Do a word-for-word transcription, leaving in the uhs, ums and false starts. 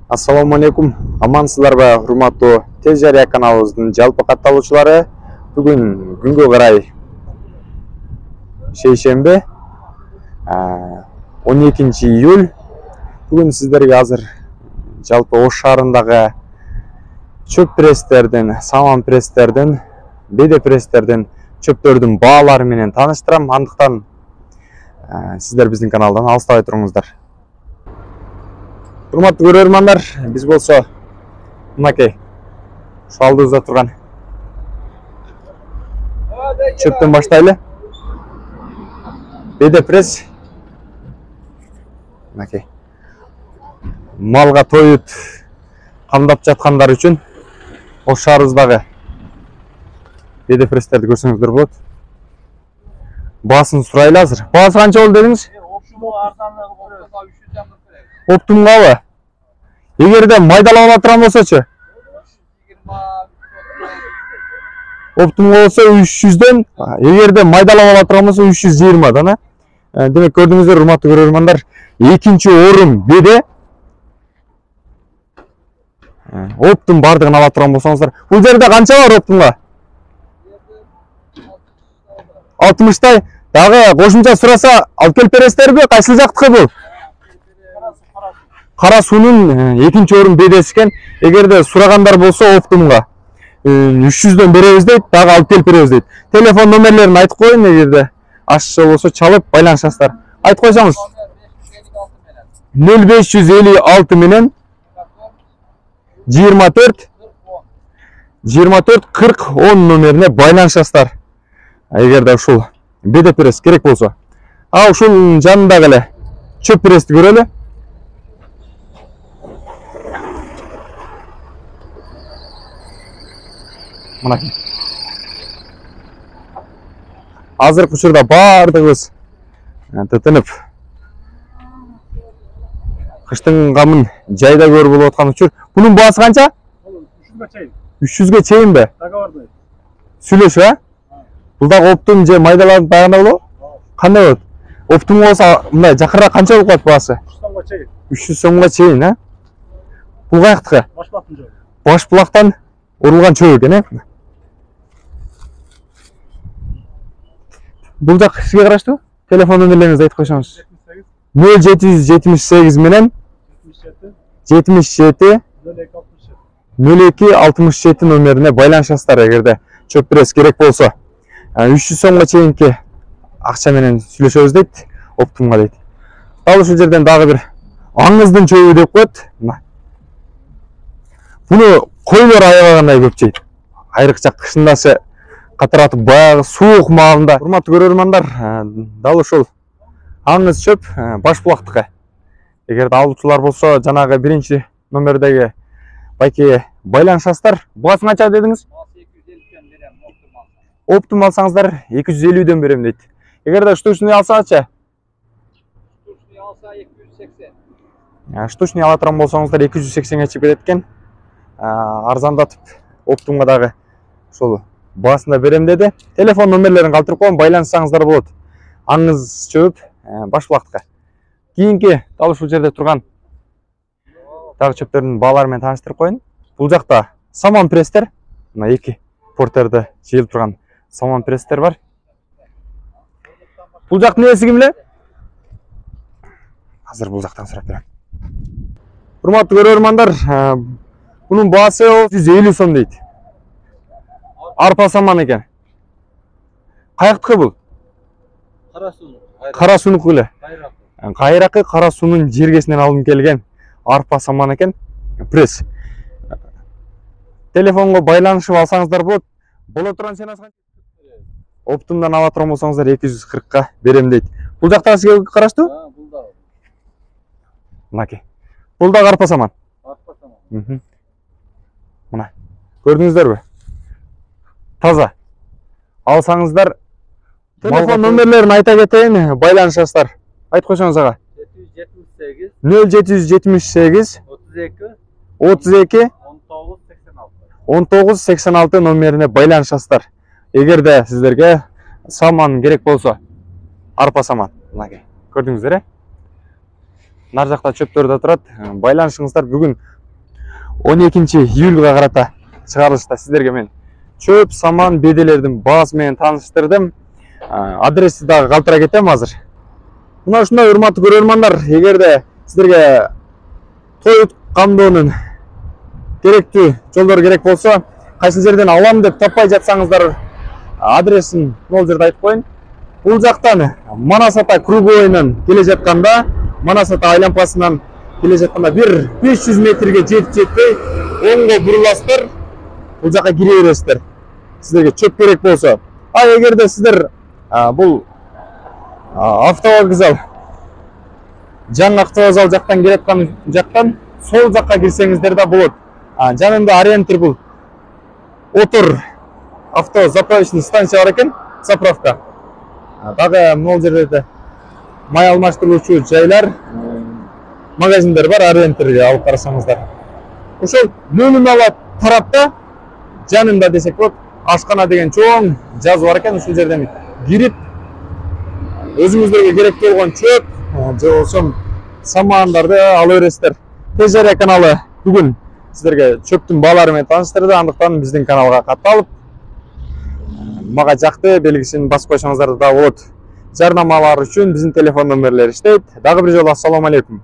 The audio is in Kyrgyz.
Ассаламу алейкум. Амансыздарбы, урматтуу Тез Жарыя каналыбыздын жалпы катталуучулары. Бүгүн күнгө карай шейшембе, он экинчи июль. Бүгүн сиздерге азыр жалпы Ош шаарындагы чөп пресстердин, саман пресстердин, беде пресстердин чөптөрдүн баалары менен тааныштырам. Андыктан сиздер биздин каналдан алыстабай туруңуздар. Урматтуу көрөрмандар, биз болсо мынакей ушу алдыбызда турган чөптөн баштайлы. Беде пресс мынакей малга тоют камдап жаткандар үчүн Ош шаарыбыздагы беде пресстерди көрсөңүздөр болот. Баасын сурайлы азыр. Баасы канча болду дедиңиз? Оптумгабы? Эгерде майдалап ала турган болсочу? Оптумга болсо үч жүздөн, эгерде майдалап ала турган болсо үч жүз жыйырмадан, а? Демек көрдүңүздөр, урматтуу көрөрмандар, экинчи орун беде. Оптум бардыгын ала турган болсоңуздар. Бул жерде канча бар оптумга? алтымыштай. Дагы кошумча сураса алып келип бересиздерби? Кайсы жактыкы бул? Кара суунун экинчи орун бедеси экен. Эгерде сурагандар болсо оптумга үч жүздөн беребиз дейт, дагы алып келип беребиз дейт. Телефон номерлерин айтып коеюн, эгерде ашчы болсо чалып байланышасыздар. Айтып койсоңуз. нөл беш жүз элүү алты менен жыйырма төрт жыйырма төрт кырк он номерине байланышасыздар. Эгерде ушул беде пресс керек болсо. А ушул жанындагы эле чөп прессти көрөлү. Мына. Азыркы учурда бардыгыбыз тытынып кыштын камын жайда көрүп болуп аткан учур. Бунун баасы канча? үч жүзгө чейинби? Сүйлөшүп, а? Бул дагы оптум же майдаланып дагында болобу? Кандай болот? Оптум болсо мындай жакырраак канча болуп калат баасы? үч жүз сомго чейин, а? Бул каяктыкы? Башбулактын жобу. Башбулактан урулган чөп экен, э? Бул жак сизге караштуу? Телефон номерлериңизди айтып койсоңуз. нөл жети жүз жетимиш сегиз менен жетимиш жети нөл эки алтымыш жети номерине байланышасыздар, эгерде чөп пресс керек болсо. үч жүз сомго чейинки акча менен сүйлөшөбүз дейт, оптумга дейт. Дал ушул жерден дагы бир аңыздын чөбү деп коет. Буну койлор аябагандай көп жейт. Айрыкча кышындасы катаратып баягы суук маалында. Урматтуу көрөрмандар, дал ушул аңыз чөп Башбулактыкы. Эгерде алуучулар болсо, жанагы биринчи номердеги байке байланышасыздар. Баасы канча дедиңиз? Оптум алсаңыздар эки жүз элүүдөн берем дейт. Эгерде штучный алсачы? Штучный алса эки жүз сексен. Штучный ала турган болсоңуздар эки жүз сексенге чыгып кетет экен. Арзандатып оптумга дагы ошол баасында берем деди. Телефон номерлерин калтырып коем, байланышсаңыздар болот. Аңыз чөп Башбулактыкы. Кийинки дал ушул жерде турган дагы чөптөрдүн баалары менен тааныштырып коеюн. Бул жакта саман пресстер, мына эки портерде жыйылып турган саман пресстер бар. Бул жактын ээси ким эле? Азыр бул жактан сурап берем. Урматтуу көрөрмандар, бунун баасы жүз элүү сом дейт. Арпа саман экен. Каяктыкы бул? Кара суу. Кара суунуку эле. Кайракы кара суунун жергесинен алынып келген арпа саман экен. Пресс. Телефонго байланышып алсаңыздар болот. Боло турган сенасы канча? Оптумдан ала турган болсоңуздар эки жүз кыркка берем дейт. Бул жакта сизге караштуу? Бул да. Мынакей. Бул да арпа саман. Арпа саман. Мына. Көрдүңүздөрбү? Таза. Алсаңыздар телефон номерлерин айта кетейин, байланышасыздар. Айтып койсоңуз ага. нөл жети жүз жетимиш сегиз отуз эки он тогуз сексен алты номерине байланышасыздар. Эгерде сиздерге саман керек болсо, арпа саман. Мынакей. Көрдүңүздөр, э? Нар жакта чөптөр да турат. Байланышыңыздар. Бүгүн он экинчи июлга карата чыгарылышта сиздерге мен чөп саман беделердин баасы менен тааныштырдым. Адрести дагы калтыра кетем азыр. Мына ушундай урматтуу көрөрмандар, эгерде сиздерге той камдоонун керектүү жолдору керек болсо, кайсы жерден алам деп таппай жатсаңыздар, адресин могул жерде айтып коеюн. Бул жактан Манас Ата круговойунан келе жатканда, Манас Ата айлампасынан келе жатканда бир беш жүз метрге жетип жетпей оңго буруласыздар, бул жака кире бересиздер. Сиздерге чөп керек болсо. А эгерде сиздер бул автовокзал, жаңы автовокзал жактан келаткан жактан сол жакка кирсеңиздер да болот. Жанында Ориентир бул отур авто заправочный станция бар экен, заправка. Дагы могул жерде май алмаштыруучу жайлар, магазиндер бар, Ориентирге алып карасаңыздар. Ошол нөлүн ала тарапта жанында десек болот, ашкана деген чоң жазуу бар экен. Ушул жерден кирип, өзүңүздөргө керектүү болгон чөп же болсо самандарды ала бересиздер. Тез Жарыя каналы бүгүн сиздерге чөптүн баалары менен тааныштырды. Андыктан биздин каналга катталып, мага жакты белгисин басып койсоңуздар да болот. Жарнамалар үчүн биздин телефон номерлери иштейт. Дагы бир жолу ассаламу алейкум.